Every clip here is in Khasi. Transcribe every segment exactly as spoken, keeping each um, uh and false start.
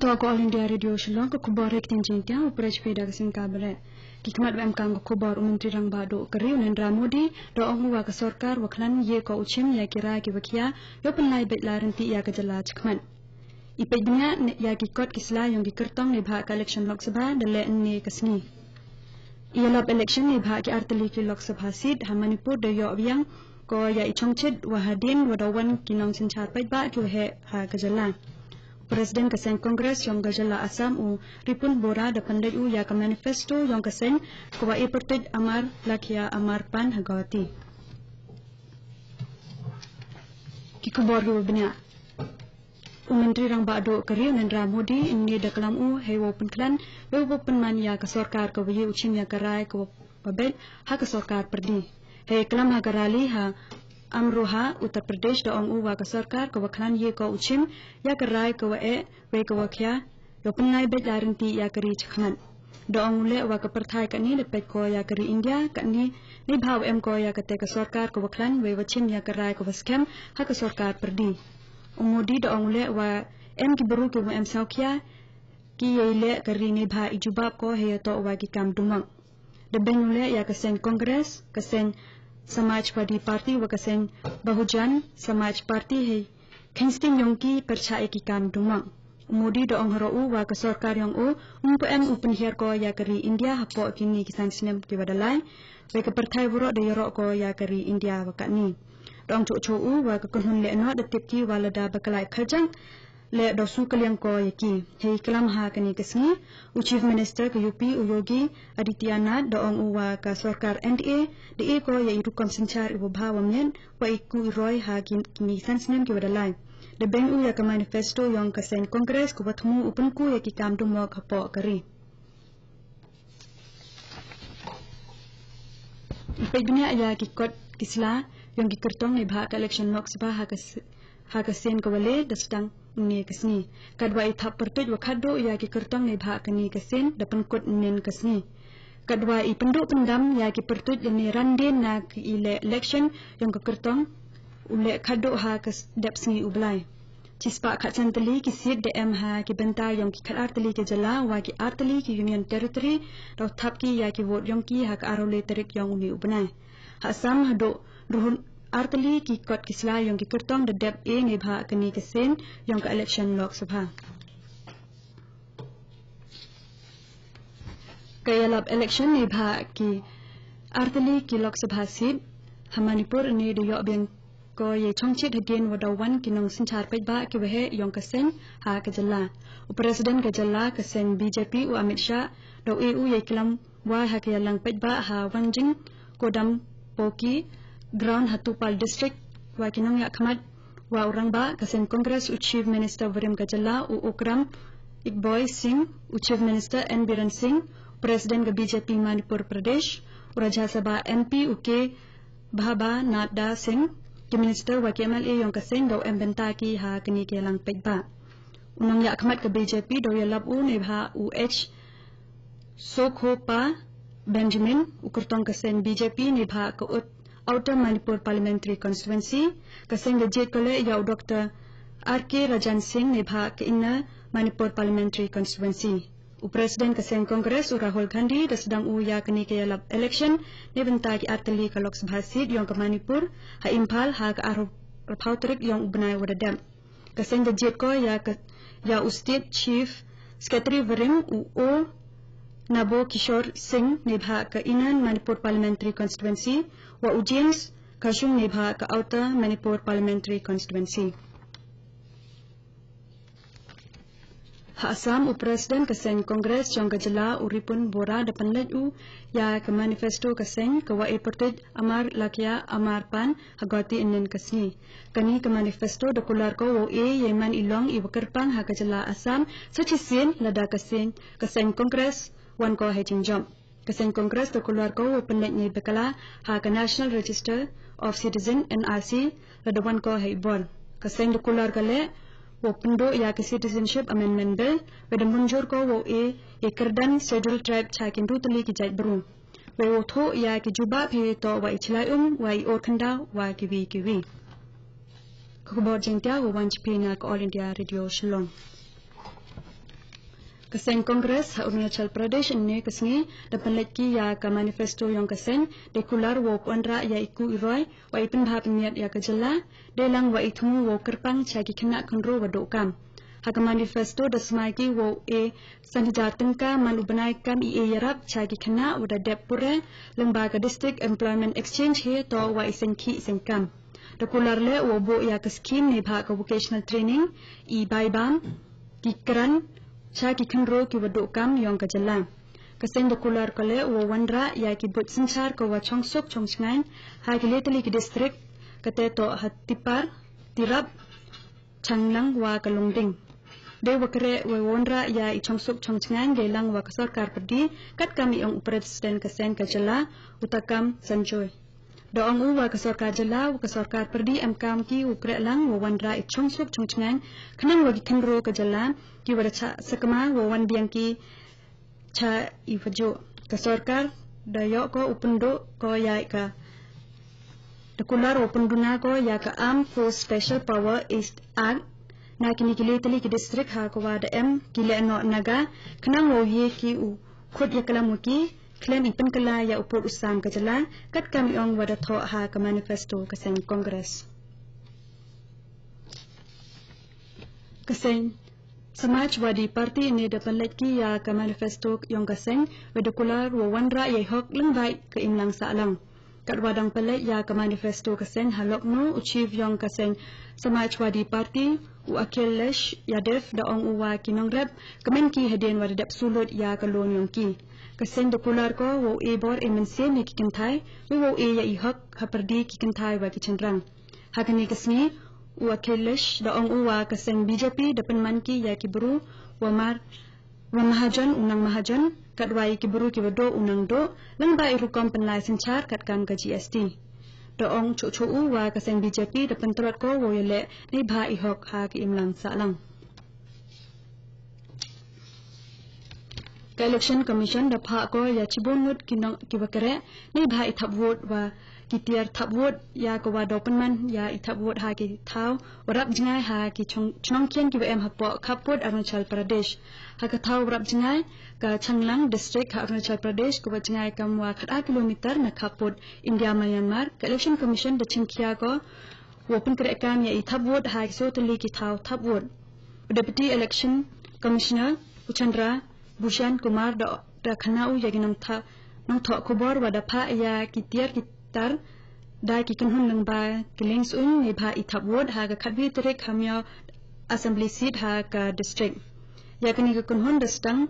To ka All India Radio Shillong, ka khubor ha ktien Jaiñtia, u pyrshah da ka Singka Bret. Ki khmat wa em kam ka khubor. U Myntri Rangbah Duh ka ri u Narendra Modi da ong u wa ka sorkar wa khlaiñ ïa ko u chim ïa ki rai ki wa khia, ïoh pynlait beit la rynti ïa ka jylla chakhmat. I peit bniah ïa ki kot ki sla yong ki kyrtong neibhah ka election Lok Sabha da leh ynne ka sngi. I ïalap election neibhah ki artylli ki Lok Sabha seat ha Manipur da ïoh biang ko ïa i chongchit wa hadien wa da wan ki nongsynshar paidbah ki wa heh ha ka jylla. President ka seng Congress yong ka jylla Assam u Ripun Bora da pynleit u ïa ka manifesto yong ka seng ka wa e pyrtuit Amar Lakya Amar Pan ha Guwahati. Ki khubor ki wa bniah. U Myntri Rangbah Duh ka ri u Narendra Modi ynne da klam u hei wow pynkhlaiñ, hei wow pynman ïa ka sorkar ka wa ïa u chim ïa ka rai ka wa beit ha ka sorkar pyrdi. Hei klam ha ka rally ha Amroha, Uttar Pradesh da ong u wa ka sorkar ka wa khlaiñ ïa ko u chim ïa ka rai ka wa eh wei ka wa khia, ïoh pynlait beit la rynti ïa ka ri chakhmat. Da ong u leh wa ka pyrthai kani da peit ko ïa ka ri India kani neibhah wa em ko ïa kata ka sorkar ka wa khlaiñ wei wa chim ïa ka rai ka wa skhem ha ka sorkar pyrdi. U Modi da ong u leh wa em ki bru ki wa em sawkhia ki ïa leh ka ri neibhah i jubab ko hei ïa to wa ki kam dumok. Da beiñ u leh ïa ka seng Congress, ka seng Samajwadi Party wa ka seng Bahujan Samaj Party hei kheiñ sting yong ki pyrshah ïa ki kam dumok. U Modi da ong haroh u wa ka sorkar yong u um pu em u pynhiar ko ïa ka ri India hapoh kini ki san snem ki wa da lai. Wei ka pyrthai waroh da ïaroh ko ïa ka ri India wa kani. Da ong chuh chuh u wa ka kynhun leh noh da tip ki wa lada ba ka lai khajan leh da su ka liang ko ïa ki. Hei klam ha kani ka sngi u Chief Minister ka U P u Yogi Adityanath da ong u wa ka sorkar N D A da e ko ïa i rukom synshar i wa bha wa miat wa i ku i roi ha ki, kini san snem ki wa da lai. Da beiñ u ïa ka manifesto yong ka seng Congress ka wa thmu u pynku ïa ki kam dumok hapoh ka ri. I peit bniah ïa ki kot ki sla yong ki kyrtong neibhah ka election Lok Sabha ha ka s-, ha ka sien ka wa le da sdang ynne ka sngi. Katwa i thap pyrtuit wa khatduh ïa ki kyrtong neibhah kani ka sien da pynkut ynne ka sngi. Katwa i pynduh pyndam ïa ki pyrtuit ynne randien na ki i leh election yong ka kyrtong u leh khatduh ha ka s-, dep sngi u Blai. Chispah khatsan tylli ki seat da em ha ki bynta yong ki khatar tylli ki jylla wa ki ar tylli ki Union Territory, da u thap ki ïa ki vote yong ki ha ka arphew lai tarik yong uni u bnai. Ha Assam haduh ruhun ar tylli ki kot ki sla yong ki kyrtong da dep e neibhah kani ka sien yong ka election Lok Sabha. Ka ïalap election neibhah ki ar tylli ki Lok Sabha seat ha Manipur ynne da ïoh biang ko ïa chongchit hadien wa da wan ki nongsynshar paidbah ki wa heh yong ka seng ha ka jylla. U President ka jylla ka seng B J P u Amit Shah da u e u ïa klam wa ha ka ïalang paidbah ha Wanjing Kodam Poki Ground ha Tuphal District wa ki nongïakhmat wa u rangbah ka seng Congress u Chief Minister warim ka jylla u Okram Igboi Singh, u Chief Minister N Biren Singh, President ka B J P Manipur Pradesh, u Rajya Sabha M P u K Bhaba Nadda Singh, ki minister wa ki M L A yong ka seng da u em bynta ki ha kani ka ïalang paidbah. U nongïakhmat ka B J P da u ïalap u neibhah u H Sokhopa Benjamin, u kyrtong ka seng B J P neibhah ka ut-, Outer Manipur Parliamentary Constituency, ka seng da jied ko leh ïa u Doctor R K Rajan Singh neibhah ka Inner Manipur Parliamentary Constituency. U President ka seng Congress u Rahul Gandhi da sdang u ïa kani ka ïalap election neibynta ki ar tylli ka Lok Sabha seat yong ka Manipur ha Imphal ha ka arphew tarik yong u bnai wa da dep. Ka seng da jied ko ïa ka, ïa u State Chief Secretary warim u O Nabo Kishore Singh neibhah ka Inner Manipur Parliamentary Constituency wa u James Khashung neibhah ka Outer Manipur Parliamentary Constituency. Ha Assam u President ka seng Congress yong ka jylla u Ripun Bora da pynleit u ïa ka manifesto ka seng ka wa e pyrtuit Amar Lakya Amar Pan ha Guwahati ynne ka sngi. Kani ka manifesto da kular ko wow e ïa i man i long i wa kyrpang ha ka jylla Assam sa shisien lada ka seng, ka seng Congress wan ko ha i jingjop. Ka seng Congress da kular ko wow pynleit ne bakla ha ka National Register of Citizen, N R C, lada wan ko ha i bor. Ka seng da kular ka leh wow pynduh ïa ka Citizenship Amendment Bill, wei da mynjur ko wow e ïa i kyrdan Scheduled Tribe cha ki hynriew tylli ki jait bru. Wei wow thoh ïa ki jubab hei to wa i chlai um, wa i or khyndaw, wa kiwi kiwi. Ka khubor Jaiñtia wa wan chiphi na ka All India Radio Shillong. Ka seng Congress ha Arunachal Pradesh ynne ka sngi da pynleit ki ïa ka manifesto yong ka seng, da kular wow wanrah ïa i ku i roi wa i pynbha pynmiat ïa ka jylla, da lang wa i thmu wow kyrpang cha ki khynnah khynroo wa duh kam. Ha ka manifesto da smai ki wow e san hajar tyngka man u bnai kam i e ïarap cha ki khynnah wa da dep pure, lyngba ka District Employment Exchange hi to wa i seng khih seng kam. Da kular leh wow buh ïa ka scheme neibhah ka vocational training, i bai bam ki kren cha ki khynroo ki wa duh kam yong ka jylla. Ka seng da kular ka leh wow wanrah ïa ki buit synshar ka wa chongsuk chongchngaiñ ha ki lai tylli ki district, kate to ha Tipar, Tirap, Changlang wa ka Longding. Da wa kren wow wanrah ïa i chongsuk chongchngaiñ da lang wa ka sorkar pyrdi, katkam i ong u president ka seng ka jylla, u Takam Sanjoy. Da ong u wa ka sorkar jylla wa ka sorkar pyrdi em kam ki u kren lang wow wanrah i chongsuk chongchngaiñ, khnang wa ki khynroo ka jylla ki wa da chah sakma wow wan biang ki cha i wa juh. Ka sorkar da ïoh ko u pynduh ko ïa ka, da kular wow pynduna ko ïa ka Armed Force Special Power Act na kine ki lai tylli ki district ha ka wa da em ki lehnoh naga, khnang wow ye ki u khut ïa ka lam wa ki khlem i pynkylla ïa u pud u sam ka jylla, katkam i ong wa da thoh ha ka manifesto ka seng Congress. Ka seng Samajwadi Party ynne da pynleit ki ïa ka manifesto yong ka seng, wa da kular wow wanrah ïa i hok lyngba ka imlang sahlang. Katwa dang pynleit ïa ka manifesto ka seng ha Lucknow, u chief yong ka seng Samajwadi Party, u Akhilesh Yadav da ong u wa ki nongrep kmen ki hadien wa da dep sulut ïa ka loan yong ki. Ka seng da kular ko wow e bor e mynsiem ïa ki kynthai, wow e ïa i hok ha pyrdi ki kynthai wa ki chynrang. Ha kane ka sngi u Akhilesh da ong u wa ka seng B J P da pynman ki ïa ki bru wa mar wa mahajon u nang mahajon, katwa ïa ki bru ki wa duh u nang duh, lyngba i rukom pynlai synshar katkam ka G S T. Da ong chuh chuh u wa ka seng B J P da pyntrot ko wow ïaleh neibhah i hok ha ka imlang sahlang. Ka Election Commission da phah ko ïa chibun ngut ki nong ki wa kren neibhah i thap vote wa ki tiar thap vote ïa ka wa da pynman ïa i thap vote ha ki thaw wa rap jngai ha ki chong chnong khian ki wa em hapoh khappud Arunachal Pradesh. Ha ka thaw wa rap jngai ka Changlang District ha Arunachal Pradesh ka wa jngai kam wa khat ar kilometer na khappud India Myanmar, ka Election Commission da chimkhia ko wow pynkhreh kam ïa i thap vote ha ki soo tylli ki thaw thap vote. U Deputy Election Commissioner u Chandra Bhushan Kumar da da khana u ïa ki nongtha nongthoh khubor wa da phah ïa ki tiar ki tar da ki kynhun lyngba ki lieng suiñ neibhah i thap vote ha ka khatwi tarik ha Miao Assembly Seat ha ka district. Ïa kane ka kynhun da sdang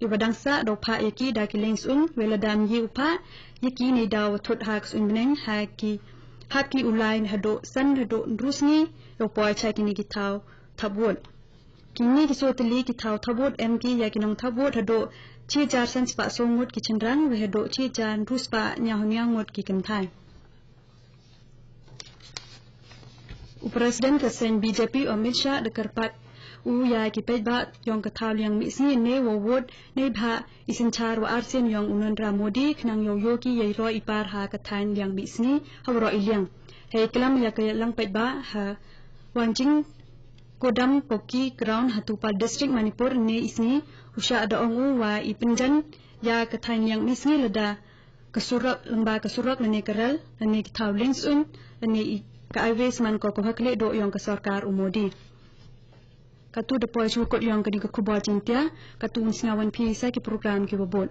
i wa dang sah da u phah ïa ki da ki lieng suiñ, wa lada ym ye u phah ïa ki neidaw wa thut ha ka suiñ bneng ha ki hap ki u lai haduh san haduh ynru sngi da u poi cha kine ki thaw thap vote. Kine ki soo tylli ki thaw thap vote em ki ïa ki nongthap vote haduh chi hajar san spah soo ngut ki chynrang, wa haduh chi hajar ynru spah hynñiew hynñiew ngut ki kynthai. U President ka seng B J P Amit Shah da kyrpad u ïa ki paidbah yong ka thaw liang mihsngi ne wow vote neibhah i synshar wa arsien yong u Narendra Modi khnang yow yoh ki ïa i roi i par ha ka thaiñ liang mihsngi ha waroh i liang. Hei klam ïa ka ïalang paidbah ha Wanjing Kodam Poki Ground ha Tupa District Manipur ynne i sngi, u Shah da ong u wa i pynjan ïa ka thaiñ liang mihsngi lada ka surok lyngba ka surok lane ka rel lane ki thaw lieng suiñ lane i ka highway sman ko ka wa khleh duh yong ka sorkar u Modi. Katu da poi shu kut yong kane ka khubor Jaiñtia, katu un sngawan phi sa ki program ki wa bud.